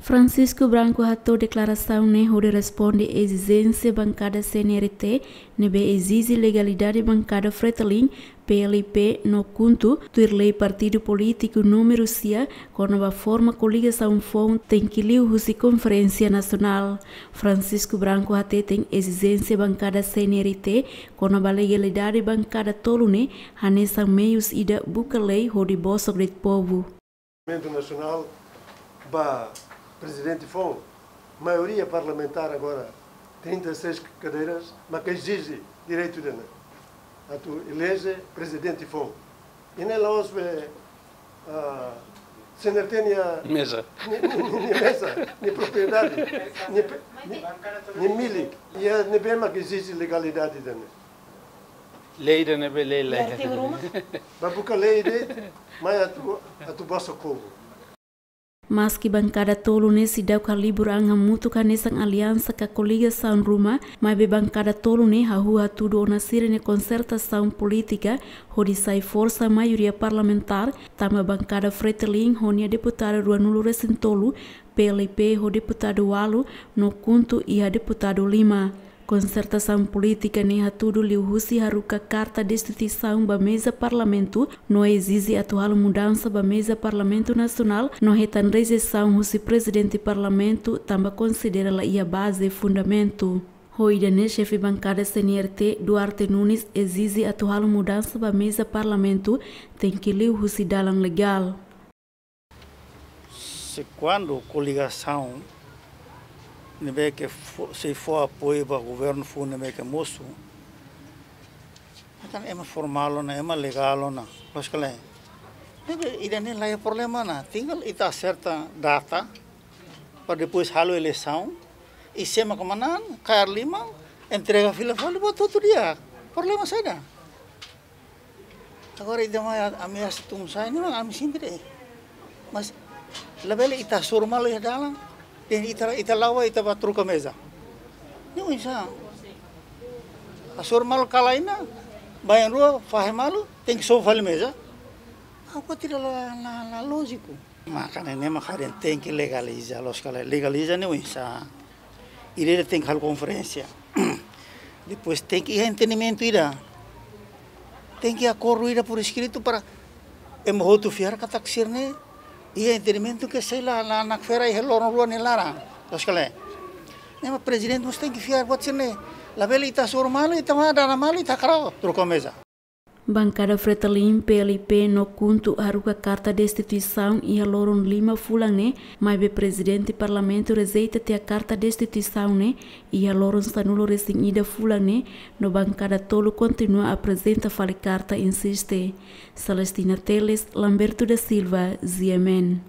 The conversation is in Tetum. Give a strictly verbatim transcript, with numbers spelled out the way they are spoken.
Francisco Branco hato'o deklarasaun ne'e hodi responde ezijénsia bankada C N R T ne'ebé ezije legalidade bankada Fretilin, P L P no KHUNTO, tuir lei partidu polítiku númeru sia, kona-ba forma koligasaun foun tenke liu husi Konferénsia Nasionál. Francisco Branco hateten ezijénsia bankada C N R T kona-ba legalidade bankada tolu ne'e hanesan meius ida buka lei hodi bosok de'it povu. Parlamentu Nasionál ba prezidente foun, maioria parlamentár agora, trinta e seis cadeiras, mak ezije direitu ida-ne'e, atu eleje prezidente foun. I ne'e la'ós be, ah, C N R T nia meza. Nia, nia, nia, nia meza, nia propriedade, nia pe-, nia, nia milik. I ne'ebé mak ezije legalidade ida-ne'e. Lei ida-ne'ebé lei, lei. Artigu ruma? Ba buka lei de'it, mai atu, atu bosok povu. Maski bankada tolu ne'e seidauk halibur an hamutuk hanesan aliansa ka koligasaun ruma, maibé bankada tolu ne'e hahú hatudu ona sira-nia konsertasaun polítika hodi sai forsa maioria parlamentár, tanba bankada Fretilin ho nia deputadu ruanulu-resin-tolu, P L P ho deputadu ualu, no KHUNTO iha deputadu lima. Konsertasaun polítika ne'e hatudu liuhusi haruka karta destituisaun ba meza Parlamentu, no ezije atu halo mudansa ba meza Parlamentu Nasionál, no hetan rejeisaun husi prezidente Parlamentu, tanba konsidera la iha baze, fundamentu. Ho ida-ne'e xefe bankada C N R T, Duarte Nunes, ezije atu halo mudansa ba meza Parlamentu, tenke liu husi dalan legál. Se kuandu koligasaun ne'ebé ke fó, sei fó apoiu ba governu foun ne'ebé ke mosu, entaun ema formál ona, ema legál ona, loos ka lae? Ne'ebé ida-ne'e la iha problema ona, tinggal ita aserta data, para depois halo eleisaun, i sé mak manán, kaer liman, entrega fila fali, buat hotu di'ak. Problema saida? Agora, ida mai ameasa tun-sa'e ne'e, ami sempre. Mas labele ita hasoru malu iha dalan, dehan ita, ita la'o, ita bá troka meza. Ne'e oinsá? Hasoru malu kala iha ne'e, baibain rua, fahe malu, tenke sobu fali meza. Agora tidak la, la, la lójiku. Maka ne'e mak ha'u dehan tenke legaliza, loos ka lae? Legaliza ne'e oinsá? Ida-idak tenke halo konferénsia. Depois tenke iha entendimentu ida. Tenke akordu ida por eskritu para ema hotu fiar katak sira-ne'e iha entendimentu ke sei la, la nakfera iha loron rua nia laran. Loos ka lae? Ne'e mak prezidente mós tenke fiar buat sira-ne'e. Labele ita hasoru malu, ita mai dalan malu, ita hakarak troka meza. Bankada Fretilin, P L P no KHUNTO haruka karta destituisaun iha loron lima fulan ne'e, maibé prezidente Parlamentu rejeita tiha karta destituisaun ne'e iha loron sanulu-resin-ida fulan ne'e, no bankada tolu kontinua aprezenta fali karta, insiste. Celestina Teles, Lamberto da Silva, G M N.